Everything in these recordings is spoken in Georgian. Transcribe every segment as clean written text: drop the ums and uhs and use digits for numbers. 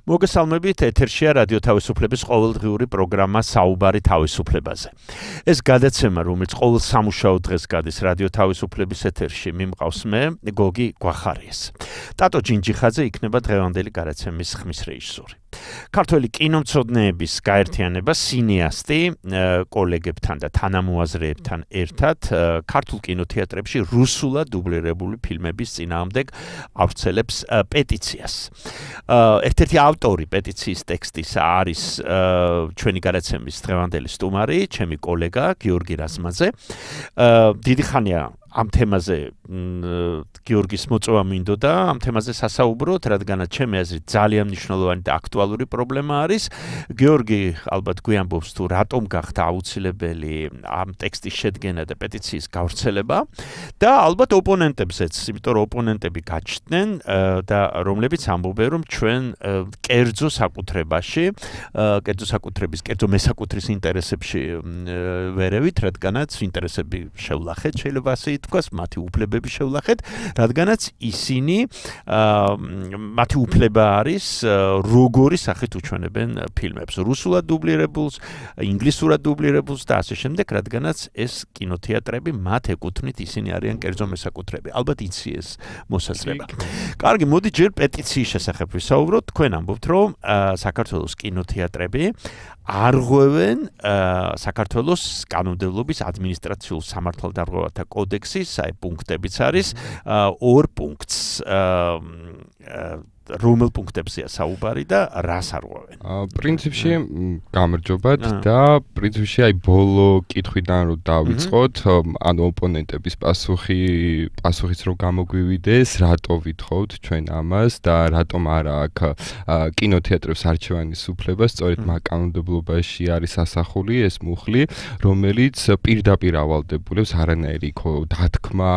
მოგესალმებით, ეთერშია რადიო თავისუფლების ყოველდღიური პროგრამა საუბარი თავისუფლებაზე. ეს გადაცემა, რომელიც ყოველ სამუშაო დღეს გადის რადიო თავისუფლების ეთერში, მიმყავს მე, გოგი გვახარიეს. ტატო ჯინჯიხაძე იქნება დღევანდელი გადაცემის ხმის რეჟისორი. ქართველი კინომცოდნეების გაერთიანება სინეასტი კოლეგებთან და თანამოაზრეებთან ერთად ქართულ კინოთეატრებში რუსულად დუბლირებული ფილმების წინააღმდეგ ავრცელებს პეტიციას. ერთ-ერთი ავტორი პეტიციის ტექსტისა არის ჩვენი გადაცემის დღევანდელი სტუმარი, ჩემი კოლეგა გიორგი რაზმაძე. დიდი ხანია ამ თემაზე გიორგის მოწვევა მინდოდა, ამ თემაზე სასაუბროთ, რადგანაც ჩემი აზრით ძალიან მნიშვნელოვანი და აქტუალური პრობლემა არის. გიორგი ალბათ გვიამბობს თუ რატომ გახდა აუცილებელი ამ ტექსტის შედგენა და პეტიციის გავრცელება და ალბათ ოპონენტებზეც, იმიტომ რომ ოპონენტები გაჩნდნენ და რომლებიც ამბობენ, რომ ჩვენ კერძო საკუთრებაში, კერძო მესაკუთრის ინტერესებში ვერევით, რადგანაც ინტერესები შევლახეთ, შეიძლება ასე ითქვას, მათი უფლებები შევლახეთ, რადგანაც ისინი მათი უფლება არის როგორი სახით უჩვენებენ ფილმებს, რუსულად დუბლირებულს, ინგლისურად დუბლირებულს და ასე შემდეგ, რადგანაც ეს კინოთეატრები მათ ეკუთვნით, ისინი არიან კერძო მესაკუთრეები. ალბათ იცი ეს მოსაზრება. კარგი, მოდი ჯერ პეტიციის შესახებ ვისაუბროთ. თქვენ ამბობთ, რომ საქართველოს კინოთეატრები არღვევენ საქართველოს კანონმდებლობის ადმინისტრაციულ სამართალდარღვევათა კოდექსის პუნქტებიც არის 2 პუნქტს რომელ პუნქტებზეა საუბარი და რას არღვევენ? პრინციპში გამარჯობათ და პრინციპში აი ბოლო კითხვიდან რომ დავიწყოთ, ანუ ოპონენტების პასუხიც რომ გამოგვივიდეს, რატო ვითხოვთ ჩვენ ამას და რატომ არა აქვს კინოთეატრებს არჩევანის უფლება, სწორედ მაგ კანონმდებლობაში არის ასახული ეს მუხლი, რომელიც პირდაპირ ავალდებულებს არანაირი დათქმა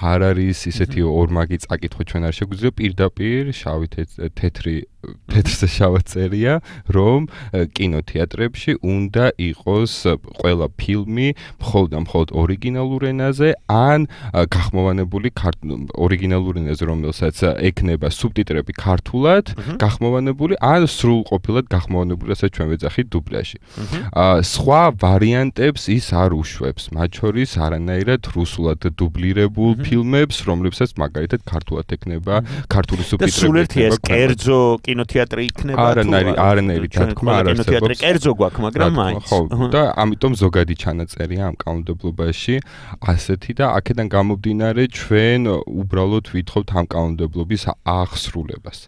არ არის ისეთი ორმაგი წაკითხვა ჩვენ არ შეგვიძლია პირდაპირ შავი თეთრზე შავად წერია, რომ კინოთეატრებში უნდა იყოს ყველა ფილმი მხოლოდ ორიგინალურ ენაზე, ან გახმოვანებული ორიგინალურ ენაზე, რომელსაც ექნება სუბტიტრები ქართულად, გახმოვანებული, ან სრულყოფილად გახმოვანებული, რასაც ჩვენ ვეძახით დუბლაჟი. სხვა ვარიანტებს ის არ უშვებს, მათ შორის არანაირად რუსულად დუბლირებულ ფილმებს, რომლებსაც მაგალითად ქართულად ექნება, ქართული სუბტიტრები ეს კერძო კინოთეატრი იქნება არანაირი დათქმა არ არსებობს. კინოთეატრი კერძო გვაქვს, მაგრამ მაინც. და ამიტომ ზოგადი ჩანაწერია ამ კანონმდებლობაში ასეთი და აქედან გამომდინარე ჩვენ უბრალოდ ვითხოვთ ამ კანონმდებლობის აღსრულებას.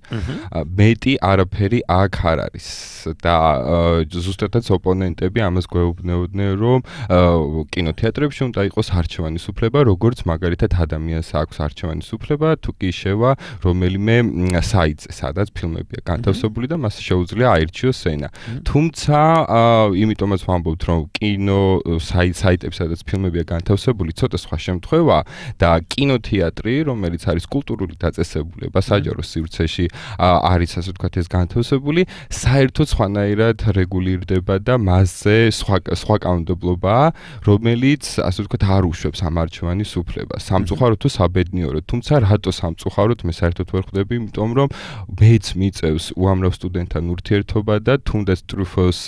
მეტი არაფერი აქ არ არის და ზუსტადაც ოპონენტები ამას გვეუბნებოდნენ, რომ კინოთეატრებში უნდა იყოს არჩევანის უფლება, როგორც მაგალითად ადამიანს აქვს არჩევანის უფლება, თუ კი შევა რომელიმე საიტზე, სადაც ფილმებია განთავსებული და მას შეუძლია აირჩიოს სცენა. თუმცა, იმიტომაც ვამბობთ, რომ კინო საიტებში, სადაც ფილმებია განთავსებული, ცოტა სხვა შემთხვევაა და კინოთეატრი, რომელიც არის კულტურული დაწესებულება, საჯარო სივრცეში არის, ასე ვთქვათ, ეს განთავსებული, საერთოდ სხვანაირად რეგულირდება და მასზე სხვა კანონმდებლობაა, რომელიც, ასე ვთქვათ, არ უშვებს ამ არჩევანის უფლებას. სამწუხაროდ თუ საბედნიეროდ, თუმცა რატო სამწუხაროდ მე საერთოდ ვერ ხვდები, იმიტომ რომ მეც მიწევს უამრავ სტუდენტთან ურთიერთობა და თუნდაც ტრუფოს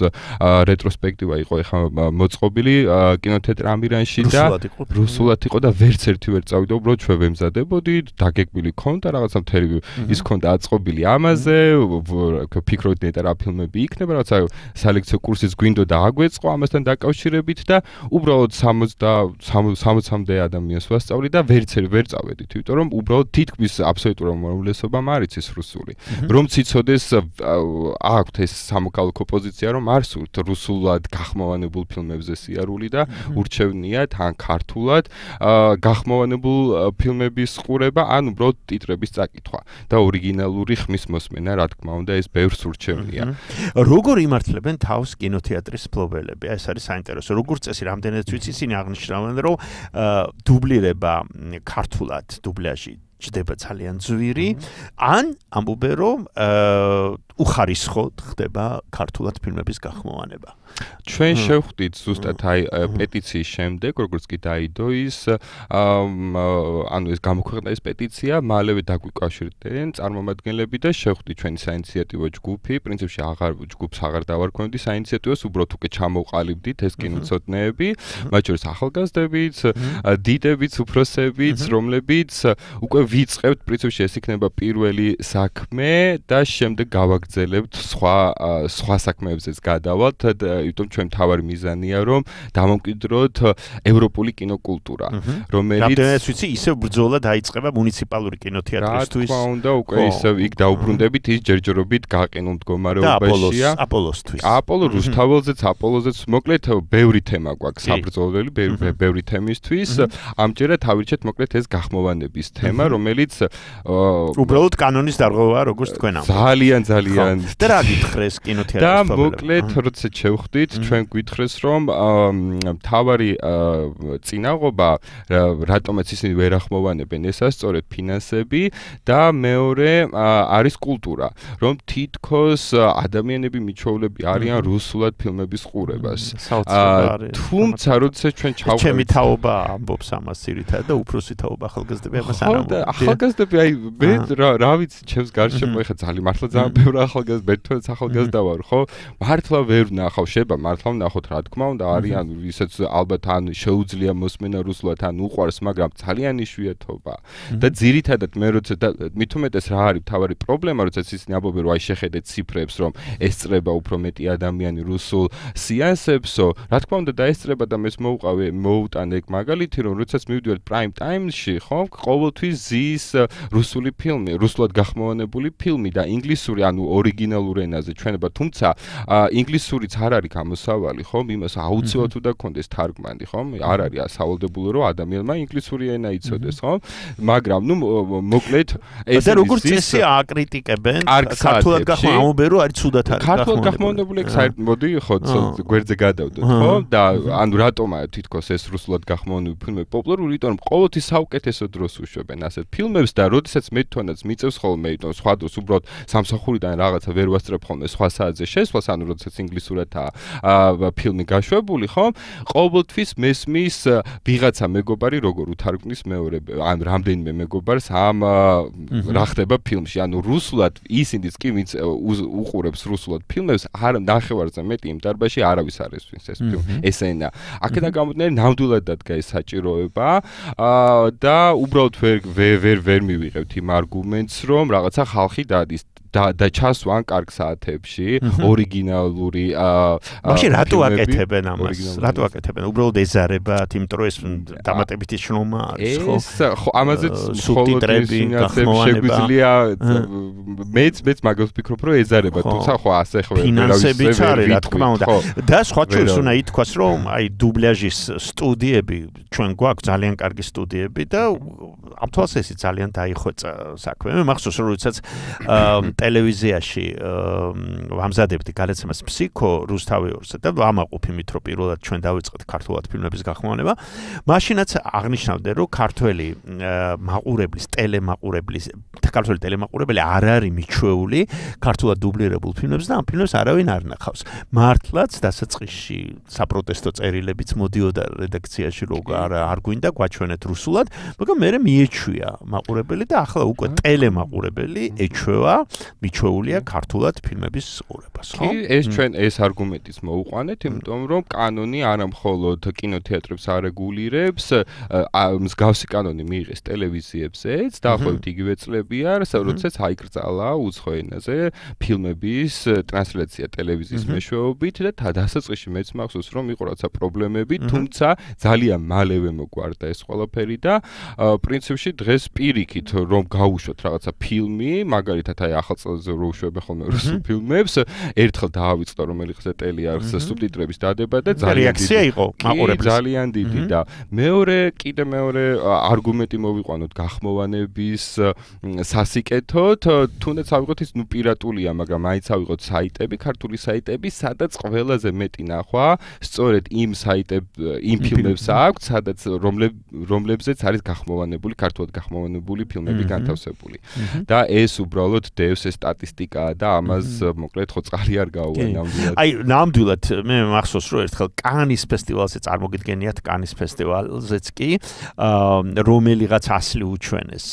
რეტროსპექტივა იყო ეხლა მოწყობილი კინოთეატრ ამირანში და რუსულად იყო და ვერც ერთი ვერ წავიდა, უბრალოდ ჩვენ ვემზადებოდით, დაგეგმილი ქონდა რაღაცა მთელი ის ქონდა აწყობილი ამაზე, ფიქრობთ ნეტა რა ფილმები იქნება, რაღაცა სალექციო კურსიც გვინდოდა აგვეწყო ამასთან დაკავშირებით და უბრალოდ 60-მდე ადამიანს ვასწავლი და ვერც ვერ წავედით, იმიტომ რომ უბრალოდ თითქმის აბსოლუტურ უმრავლესობამ არ იცის რუსული. რომ ციცოდეს აქვთ ეს სამოქალაქო პოზიცია, რომ არ სურთ რუსულად გახმოვანებულ ფილმებზე სიარული და ურჩევნიათ ან ქართულად გახმოვანებულ ფილმების ყურება, ან უბრალოდ ტიტრების წაკითხვა და ორიგინალური ხმის მოსმენა, რა თქმა უნდა, ეს ბევრს ურჩევნია. როგორ იმართლებენ თავს კინოთეატრის მფლობელები? ეს არის საინტერესო. როგორც წესი, რამდენადაც ვიცი, ისინი აღნიშნავენ, რომ დუბლირება ქართულად, დუბლაჟი ჯდება ძალიან ძვირი, ან ამბობენ რომ უხარისხოდ ხდება ქართულად ფილმების გახმოვანება. ჩვენ შევხვდით ზუსტად აი პეტიციის შემდეგ, როგორც კი დაიდო ის ანუ ეს გამოქვეყნდა ეს პეტიცია, მალევე დაგვიკავშირდნენ წარმომადგენლები და შევხვდით ჩვენი საინიციატივო ჯგუფი, პრინციპში ჯგუფს აღარ დავარქვევდი საინიციატივოს, უბრალოდ უკვე ჩამოვყალიბდით ეს კინოცოდნეები, მათ შორის ახალგაზრდებიც, დიდებიც, უფროსებიც, რომლებიც უკვე ვიწყებთ, პრინციპში ეს იქნება პირველი საქმე და შემდეგ გავაგრძელებთ სხვა საქმეებზეც გადავალთ, იმიტომ ჩვენ თავარი მიზანია რომ დამომკვიდროთ ევროპული კინოკულტურა, რომელიც რამდენიც ვიცი, ისევ ბრძოლა დაიწყება მუნიციპალური კინოთეატრისთვის. რა თქმა უნდა, უკვე ისევ იქ დაუბრუნდებით ის ჯერჯერობით გაყინულ მდგომარეობაშია. აპოლოსთვის. აპოლო რუსთაველზეც, აპოლოზეც, მოკლედ ბევრი თემა გვაქვს საბრძოლველი, ბევრი თემისთვის. ამჯერად ავირჩეთ მოკლედ ეს გახმოვანების თემა, რომელიც უბრალოდ კანონის დარღვევაა, როგორც თქვენ ამბობთ. ძალიან და რა გითხრეს კინოთეატრის და მოკლედ როცა შევხვდით, ჩვენ გითხრეს რომ მთავარი წინაღობა რატომაც ისინი ვერ ახმოვანებენ ესა სწორედ ფინანსები და მეორე არის კულტურა, რომ თითქოს ადამიანები მიჩვეულები არიან რუსულად ფილმების ყურებას. თუმცა როცა ჩვენ ჩავხვდით, ჩემი თაობა ამბობს ამას ძირითადად და უფროსი თაობა ახალგაზრდები ამას არ ამბობენ. ახალგაზრდები აი მე რა ვიცი, ჩემს გარშემო ეხა მართლა ძალიან ბევრი ახალგაზრდა ვარ, ხო? მართლა ვერ ვნახავ, შეიძლება მართლა ვნახოთ, რა თქმა უნდა, არიან ისაც ალბათ ან შეუძლია მოსმენა რუსულად, ან უყვარს, მაგრამ ძალიან იშვიათობა. და ძირითადად მე როცა მით უმეტეს რა არის მთავარი პრობლემა, როდესაც ისინი ამბობენ, რომ აი შეხედეთ ციფრებს, რომ ესწრება უფრო მეტი ადამიანი რუსულ სეანსებსო, რა თქმა უნდა დაესწრება და მეც მოუტანე ეგ მაგალითი, რომ როდესაც მივდივართ prime time-ში, ხო, ყოველთვის ზის რუსული ფილმი, რუსულად გახმოვანებული ფილმი და ინგლისური, ანუ ორიგინალურ ენაზე ჩვენება, თუმცა ინგლისურიც არ არის გამოსავალი, ხომ? იმას აუცილებლად უნდა კონდეს თარგმანი, ხომ? არ არის სავალდებულო, რომ ადამიანმა ინგლისური ენა იცოდეს, ხომ? მაგრამ ნუ მოკლედ ეს და როგორც წესი აკრიტიკებენ ქართულად გახმოვანებული, რომ არის ცუდად არის ქართულად გახმოვანებული, მოდი ხო გვერდზე გადავდოთ, ხო? და ანუ რატომაა თითქოს ეს რუსულად გახმოვანებული ფილმები პოპულარული, იმიტომ რომ ყოველთვის საუკეთესო დროს უშვებენ ასეთ ფილმებს და როდესაც მე თვითონაც მიწევს ხოლმე, იმიტომ სხვა დროს უბრალოდ სამსახურიდან რაღაცა ვერ ვასწრებ ხოლმე სხვა საათზე შესვლას, ანუ როდესაც ინგლისურადაა ფილმი გაშვებული, ხო? ყოველთვის მესმის ვიღაცა მეგობარი როგორ უთარგმნის მეორე, ან რამდენიმე მეგობარს ამ რა ხდება ფილმში, ანუ რუსულად ისინიც კი ვინც უყურებს რუსულად ფილმებს, არ ნახევარზე მეტი იმ დარბაზში არავის არ ესვენს ეს ფილმი, ეს ენა. აქედან გამომდინარე, ნამდვილად დადგა ეს საჭიროება და უბრალოდ ვერ მივიღებთ იმ არგუმენტს, რომ რაღაცა ხალხი დადის და ჩასვან კარგ საათებში ორიგინალური მაშინ რატო აკეთებენ ამას? რატო აკეთებენ? უბრალოდ ეზარებათ, იმიტომ რომ ეს დამატებითი შრომა არის, ხო? ხო, ამაზეც სუბტიტრები შეგვიძლია მეც მაგას ვფიქრობ, რომ ეზარებათ, თუმცა ხო ასე ხო ფინანსებიც არის, რა თქმა უნდა. და სხვა შორის უნდა ითქვას, რომ აი დუბლაჟის სტუდიები ჩვენ გვაქვს ძალიან კარგი სტუდიები და ამ თვალსაზრისით ძალიან დაიხვეწა საქმე. მე მახსოვს, რომ როდესაც ტელევიზიაში ვამზადებდი გადაცემას ფსიქო რუსთავიორზე და ვამაყობ იმით, რომ პირველად ჩვენ დავიწყეთ ქართულად ფილმების გახმოვანება. მაშინაც აღნიშნავდნენ, რომ ქართველი ქართველი ტელემაყურებელი არ არის მიჩვეული ქართულად დუბლირებულ ფილმებს და ამ ფილმებს არავინ არ ნახავს. მართლაც დასაწყისში საპროტესტო წერილებიც მოდიოდა რედაქციაში, რომ არ გვინდა გვაჩვენეთ რუსულად, მაგრამ მე მიეჩვია მაყურებელი და ახლა უკვე ტელემაყურებელი ეჩვევა მიჩვეულია ქართულად ფილმების ყურებას, ხო? კი, ეს ჩვენ ეს არგუმენტიც მოუყვანეთ, იმიტომ რომ კანონი არა მხოლოდ კინოთეატრებს არეგულირებს, მსგავსი კანონი მიიღეს ტელევიზიებზეც, დაახლოებით იგივე წლებია, როდესაც აიკრძალა უცხო ენაზე ფილმების ტრანსლაცია ტელევიზიის მეშვეობით და დასაწყისში მეც მახსოვს, რომ იყო რაცა პრობლემები, თუმცა ძალიან მალევე მოგვარდა ეს ყველაფერი და პრინციპში დღეს პირიქით რომ გაუშვათ რაღაცა ფილმი, მაგალითად აი ახალწელზე რო უშვებენ ხოლმე რუსულ ფილმებს, ერთხელ დაავიწყდა რომელიღაც ტელი არის სუბტიტრების დადება და რეაქცია იყო მაყურებლის. ძალიან დიდი და მეორე არგუმენტი მოვიყვანოთ გახმოვანების სასიკეთოდ, თუნდაც ავიღოთ ის პირატულია, მაგრამ მაინც ავიღოთ საიტები, ქართული საიტები, სადაც ყველაზე მეტი ნახვა სწორედ იმ ფილმებს აქვს, სადაც რომლებზეც არის გახმოვანებული, ქართულად გახმოვანებული ფილმები განთავსებული. და ეს უბრალოდ დევს ეს სტატისტიკაა და ამას მოკლედ ხო წყალი არ გაუვა ნამდვილად. აი, ნამდვილად მე მახსოვს რომ ერთხელ კანის ფესტივალზე წარმოგიდგენიათ კანის ფესტივალზეც კი რომელიღაც ასლი უჩვენეს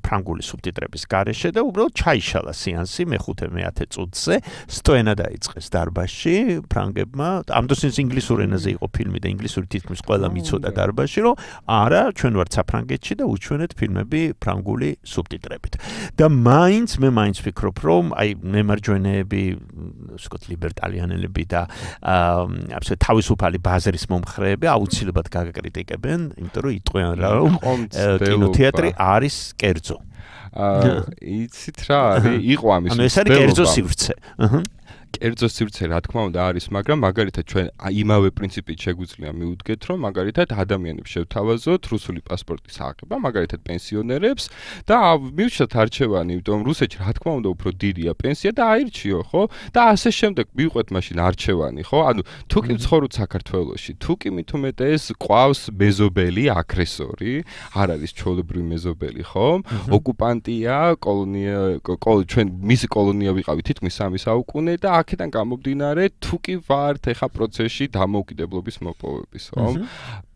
ფრანგული სუბტიტრების გარეშე და უბრალოდ ჩაიშალა სეანსი მე-5-მე-10 წუთზე სტოენა დაიწყეს დარბაზში ფრანგებმა. ამ დროს ინგლისურ ენაზე იყო ფილმი და ინგლისური თითქმის ყველა მიცოდა დარბაზში, რომ არა, ჩვენ ვართ საფრანგეთში და უჩვენეთ ფილმები ფრანგული სუბტიტრებით. და მაინც ვფიქრობ, რომ აი მემარჯვენეები, ვსკოთ ლიბერტალიანელები და თავისუფალი ბაზრის მომხრეები აუცილებლად გაგაკრიტიკებენ, იმიტომ რომ იტყვიან რომ კინოთეატრი არის კერძო. იცით რა არის? იყო ამის ეს არის კერძო სივრცე. კერძო სივრცე რა თქმა უნდა არის, მაგრამ მაგალითად ჩვენ იმავე პრინციპით შეგვიძლია მივუდგეთ, რომ მაგალითად ადამიანებს შევთავაზოთ რუსული პასპორტის აღება, მაგალითად პენსიონერებს და მივშოთ არჩევანი, იმიტომ რომ რუსეთში რა თქმა უნდა უფრო დიდია პენსია და აირჩიო, ხო? და ასე შემდეგ მივყვეთ მაშინ არჩევანი, ხო? ანუ თუ კი ვცხოვრობთ საქართველოში, თუ კი მით უმეტეს ყავს მეზობელი აგრესორი, არ არის ჩვეულებრივი მეზობელი, ხო? ოკუპანტია, ჩვენ მისი კოლონია ვიყავით თითქმის 3 საუკუნე და აქედან გამომდინარე თუ კი ვართ ეხა პროცესში დამოუკიდებლობის მოპოვების, ხო?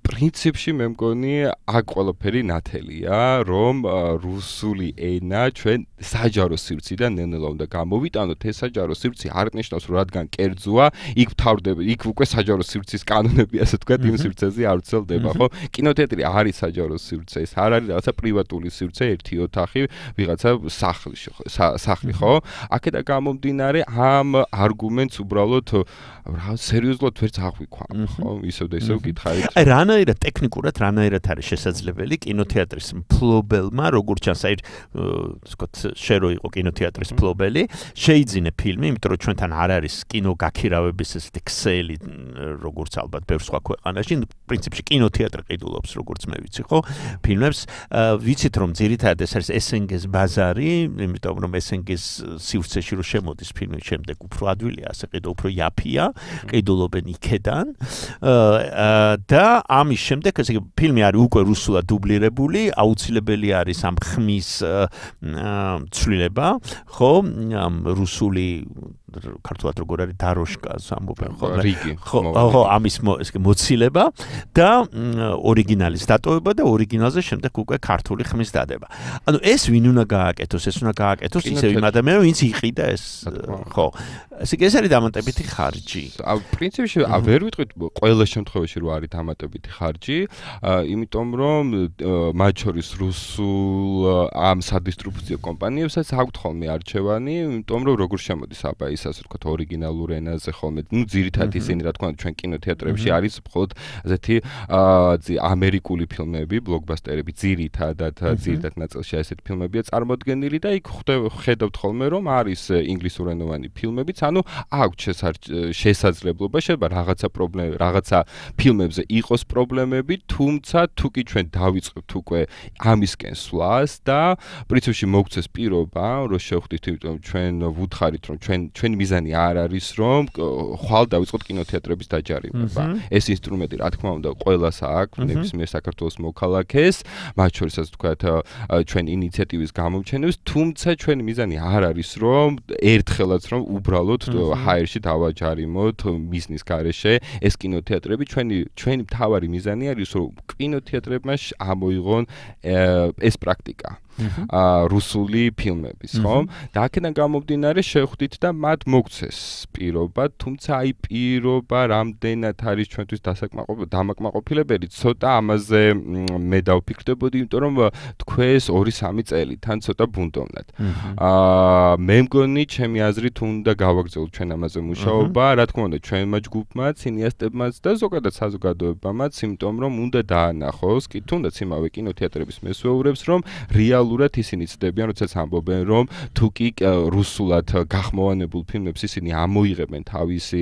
პრინციპში მე მგონი აქ ყველაფერი ნათელია, რომ რუსული ენა ჩვენ საჯარო სივრციდან ნელ-ნელა უნდა გამოვიტანოთ. ეს საჯარო სივრცე არ ნიშნავს, რომ რადგან კერძოა, იქ ვთავრდება, იქ უკვე საჯარო სივრცის კანონები, ასე ვთქვათ, იმ სივრცეზე არ ვრცელდება, ხო? კინოთეატრი არის საჯარო სივრცე, ეს არ არის რაღაცა პრივატული სივრცე, ერთი ოთახი, ვიღაცა სახლი, ხო? აქედან გამომდინარე ამ არგუმენტს უბრალოდ რა სერიოზულად ვერც აღვიქვამ, ხო? ისევ და ისევ გითხარით. აი რანაირად ტექნიკურად რანაირად არის შესაძლებელი კინოთეატრის მფლობელმა, როგორც ჩანს, აი ვსკოთ შერო იყო კინოთეატრის მფლობელი, შეიძინე ფილმი, იმიტომ რომ ჩვენთან არ არის კინო გაქირავების ესეთი ქსელი, როგორც ალბათ ბევრ სხვა ქვეყანაში, პრინციპში კინოთეატრი ყიდულობს, როგორც მე ვიცი, ხო? ფილმებს ვიცით რომ ძირითადად ეს არის SNG-ს ბაზარი, იმიტომ რომ SNG-ს სივრცეში რო შემოდის ფილმი, შემდეგ უფრო ადვილია, ასე ყიდო უფრო იაფია, ყიდულობენ იქედან და ამის შემდეგ ესე იგი ფილმი არის უკვე რუსულად დუბლირებული, აუცილებელი არის ამ ხმის ცვლილება, ხო? ამ რუსული ქართულად როგორ არის დაროშკას ამბობენ ხოლმე. ხო, ამის მოცილება და ორიგინალის დატოვება და ორიგინალზე შემდეგ უკვე ქართული ხმის დადება. ანუ ეს ვინ უნდა გააკეთოს? ეს უნდა გააკეთოს ისევ იმ ადამიანს, ვინც იყიდა ეს, ხო. ესე იგი ეს არის დამატებითი ხარჯი. პრინციპში ვერ ვიტყვით ყველა შემთხვევაში რომ არის დამატებითი ხარჯი, იმიტომ რომ მათ შორის რუსულ ამ სადისტრიბუციო კომპანიებსაც აქვთ ხოლმე არჩევანი, იმიტომ რომ როგორ შემოდის აბა ის ასე ვთქვათ ორიგინალურ ენაზე ხოლმე, ну ძირითადად ისინი რა თქმა უნდა ჩვენ კინოთეატრებში არის მხოლოდ ასეთი ამერიკული ფილმები, ბლოკბასტერები ძირითადად ნაწილში ასეთი ფილმებია წარმოდგენილი და იქ ხედავთ ხოლმე რომ არის ინგლისურენოვანი ფილმებიც, ანუ აქვს შესაძლებლობა შეიძლება რაღაცა ფილმებზე იყოს პრობლემები, თუმცა თუ კი ჩვენ დავიწყებთ უკვე ამისკენ სვლას და პრინციპში მოგცეს პირობა, რომ შევხვდით, იმიტომ ჩვენ ვუთხარით რომ ჩვენი მიზანი არ არის რომ ხვალ დავიწყოთ კინოთეატრების დაჯარიმება. ეს ინსტრუმენტი რა თქმა უნდა ყველას აქვს, ნებისმიერ საქართველოს მოქალაქეს, მათ შორისაც ვთქვათ ჩვენ ინიციატივის გამომჩენებს, თუმცა ჩვენი მიზანი არ არის რომ ერთხელაც რომ უბრალოდ ჰაერში დავაჯარიმოთ მიზნის გარეშე ეს კინოთეატრები, ჩვენი მთავარი მიზანი არის რომ კინოთეატრებმა ამოიღონ ეს პრაქტიკა. რუსული ფილმების, ხო? და აქედან გამომდინარე შევხვდით და მათ მოგცეს პირობა, თუმცა აი პირობა რამდენად არის ჩვენთვის დამაკმაყოფილებელი, ცოტა ამაზე მე დავფიქრდებოდი, იმიტომ რომ თქვენს 2-3 წელი თან ცოტა ბუნდოვნად. მე მგონი ჩემი აზრით უნდა გავაგრძელოთ ჩვენ ამაზე მუშაობა, რა თქმა უნდა ჩვენმა ჯგუფმაც, ინიასტებმაც და ზოგადად საზოგადოებამაც, იმიტომ რომ უნდა დაანახოს, კი თუნდაც იმავე კინოთეატრების მესვეურებს, რომ რეალურად ოფიციალურად ისინი ცდებიან, როდესაც ამბობენ, რომ თუ კი რუსულად გახმოვანებულ ფილმებს ისინი ამოიღებენ თავისი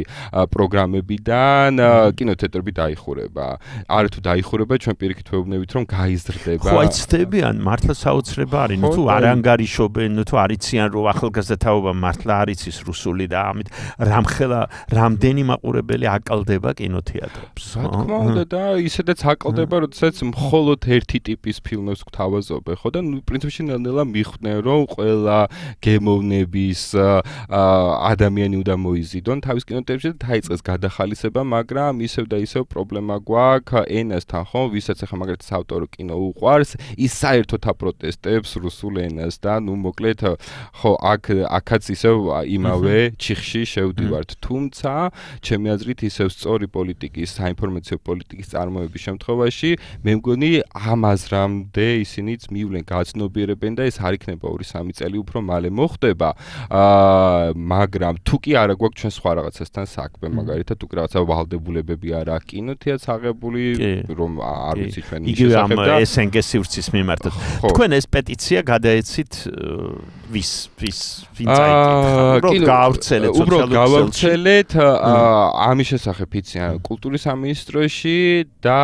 პროგრამებიდან, კინოთეატრები დაიხურება. არა თუ დაიხურება, ჩვენ პირიქით ვეუბნებით, რომ გაიზრდება. ხო, ცდებიან, მართლა საოცრება არის. თუ არ ანგარიშობენ, თუ არ იციან, რომ ახალგაზრდა თაობა მართლა არ იცის რუსული და ამით რამხელა რამდენი მაყურებელი აკალდება კინოთეატრებს. რა თქმა უნდა და ისედაც აკალდება, როდესაც მხოლოდ ერთი ტიპის ფილმებს გვთავაზობენ, ხო და პრინციპში ნელ-ნელა მიხვდნენ, რომ ყველა გემოვნების ადამიანი უნდა მოიზიდონ თავის კინოთეატრებში და დაიწყეს გადახალისება, მაგრამ ისევ და ისევ პრობლემა გვაქვს ენასთან, ხო, ვისაც ახლა მაგალითად ავტორო კინო უყვარს, ის საერთოდ აპროტესტებს რუსულ ენას და ნუ მოკლედ ხო აქაც ისევ იმავე ჩიხში შევდივართ, თუმცა ჩემი აზრით ისევ სწორი პოლიტიკის, საინფორმაციო პოლიტიკის წარმოების შემთხვევაში მე მგონი ამ აზრამდე ისინიც მივლენ, გაცნობიერებენ და ეს არ იქნება 2-3 წელი უფრო მალე მოხდება. მაგრამ თუ კი არა გვაქვს ჩვენ სხვა რაღაცასთან საქმე, მაგალითად თუ კი რაღაცა ვალდებულებები არ აქვს კინოთეატრს აღებული, რომ არ ვიცი ჩვენ ის შესახებ და SNG სივრცის მიმართად. თქვენ ეს პეტიცია გადაეცით ვინ წაიკითხა? უბრალოდ გავავრცელეთ ამის შესახებ იციან კულტურის სამინისტროში და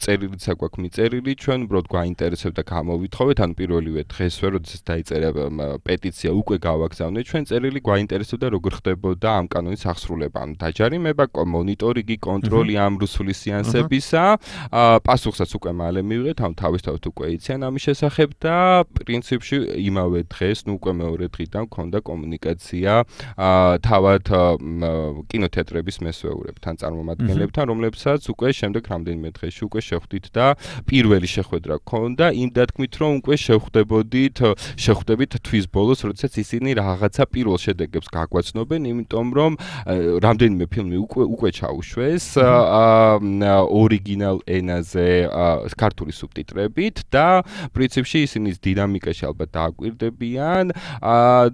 წერილიც აქვს მიწერილი, ჩვენ უბრალოდ გვაინტერესებდა გამოვითხოვეთ, ანუ პირველივე დღესვე, როდესაც დაიწერა პეტიცია, უკვე გავაგზავნეთ ჩვენ წერილი, გვაინტერესებდა როგორ ხდებოდა ამ კანონის აღსრულება, ანუ დაჯარიმება, მონიტორინგი, კონტროლი ამ რუსული სეანსებისა. პასუხსაც უკვე მალე მივიღეთ, ანუ თავისთავად უკვე იციან ამის შესახებ და პრინციპში იმავე დღეს, ნუ უკვე მეორე დღიდან მქონდა კომუნიკაცია თავად კინოთეატრების მესვეურებთან, წარმომადგენლებთან, რომლებსაც უკვე შემდეგ რამდენიმე დღეში უკვე შეხვდით და პირველი შეხვედრა გქონდა იმ დათქმით, რომ უკვე შეხვდებით თვის ბოლოს, როდესაც ისინი რაღაცა პირველ შედეგებს გაგვაცნობენ, იმიტომ რომ რამდენიმე ფილმი უკვე ჩაუშვეს ორიგინალ ენაზე ქართული სუბტიტრებით და პრინციპში ისინი დინამიკაში ალბათ დააკვირდებიან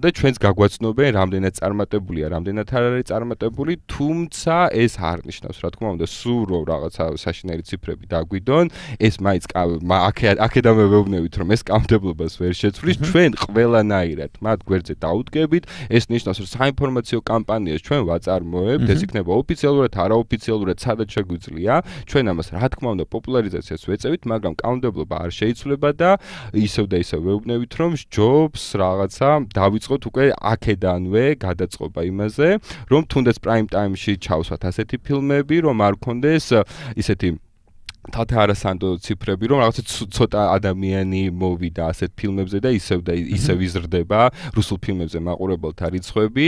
და ჩვენს გაგვაცნობენ რამდენად წარმატებულია, რამდენად არ არის წარმატებული, თუმცა ეს არ ნიშნავს, რა თქმა უნდა, სულ რომ რაღაცა საშინაური ციფრები დაგვიდონ, ეს მაინც აქედან ვეუბნებით, რომ ეს კანონმდებლობას ვერ შეცვლის, ჩვენ ყველანაირად მათ გვერდზე დაუდგებით, ეს ნიშნავს, რომ საინფორმაციო კამპანიას ჩვენ ვაწარმოებთ, ეს იქნება ოფიციალურად, არაოფიციალურად, სადაც შეგვიძლია, ჩვენ ამას რა თქმა უნდა პოპულარიზაციას ვეწევით, მაგრამ კანონმდებლობა არ შეიცვლება და ისევ და ისევ ვეუბნებით, რომ ჯობს რაღაცა დავიწყოთ უკვე აქედანვე გადაწყობა იმაზე, რომ თუნდაც prime time-ში ჩავსვათ ასეთი ფილმები, რომ არ გქონდეს ისეთი თათა არასანდო ციფრები, რომ რაღაცა ცოტა ადამიანი მოვიდა ასეთ ფილმებზე და ისევ იზრდება რუსულ ფილმებზე მაყურებელთა რიცხვები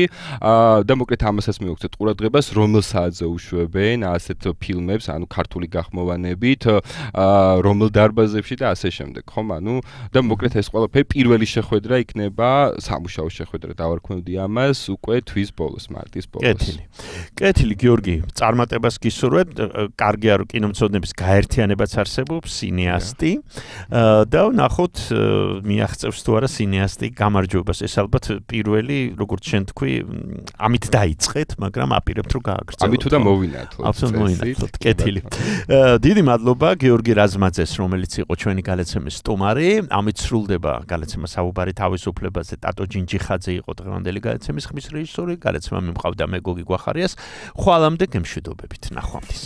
და მოკლედ ამასაც მივუხსენთ ყურადღებას, რომელ საათზე უშვებენ ასეთ ფილმებს, ანუ ქართული გახმოვანებით, რომელ დარბაზებში და ასე შემდეგ, ხომ? ანუ და მოკლედ ეს ყველაფერი პირველი შეხვედრა იქნება, სამუშაო შეხვედრა დავარქმევდი ამას უკვე თვის ბოლოს, მარტის ბოლოს. კეთილი გიორგი, წარმატებას გისურვებთ, კარგია რომ კინომცოდნების ერთიანებაც არსებობს, სინეასტი და ნახოთ მიაღწევს თუ არა სინეასტი გამარჯვებას. ეს ალბათ პირველი, როგორც შენ თქვი, ამით დაიწყეთ, მაგრამ აპირებთ რომ გააგრძელოთ. ამით და მოვინათოთ. აბსოლუტურად მოვინათოთ. კეთილი. დიდი მადლობა გიორგი რაზმაძეს, რომელიც იყო ჩვენი გალაცემის სტუმარი. ამით სრულდება გალაცემა საუბარი თავისუფლებაზე. ტატო ჯინჯიხაძე იყო დღევანდელი გალაცემის ხმის რეჟისორი. გალაცემა მიმყავდა მე გოგი გვახარიას. ხვალამდე გემშვიდობებით. ნახვამდის.